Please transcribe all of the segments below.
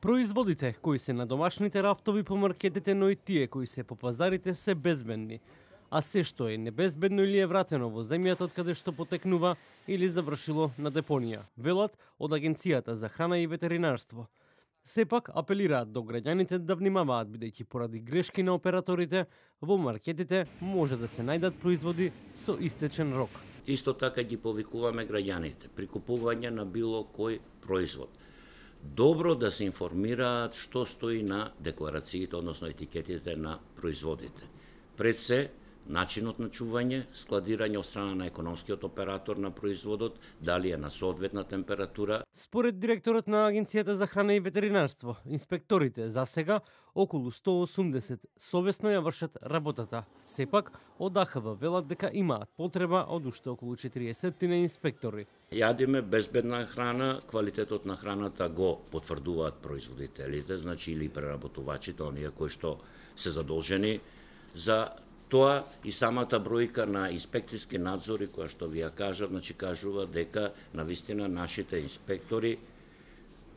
Производите кои се на домашните рафтови по маркетите, но и тие кои се по пазарите се безбедни. А се што е небезбедно или е вратено во земјата од каде што потекнува или завршило на депонија, велат од Агенцијата за храна и ветеринарство. Сепак апелираат до граѓаните да внимаваат, бидејќи поради грешки на операторите во маркетите може да се најдат производи со истечен рок. Исто така ги повикуваме граѓаните при купување на било кој производ. Добро да се информираат што стои на декларациите, односно етикетите на производите. Пред се, начинот на чување, складирање од страна на економскиот оператор на производот, дали е на соодветна температура. Според директорот на Агенцијата за храна и ветеринарство, инспекторите за сега околу 180 совесно ја вршат работата. Сепак, од АХВ велат дека имаат потреба од уште околу 40 инспектори. Јадиме безбедна храна, квалитетот на храната го потврдуваат производителите, значи или преработувачите, оние кои што се задолжени за тоа, и самата бројка на инспекциски надзори која што ви ја кажав, значи кажува дека навистина нашите инспектори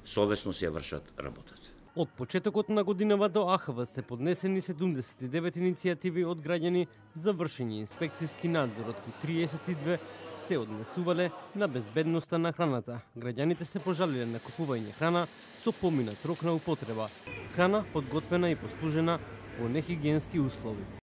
совесно си ја вршат работата. Од почетокот на годинава до АХВ се поднесени 79 иницијативи од граѓани за вршење инспекциски надзор, од кои 32 се однесувале на безбедноста на храната. Граѓаните се пожалиле на купување храна со поминат рок на употреба. Храна подготвена и послужена во нехигиенски услови.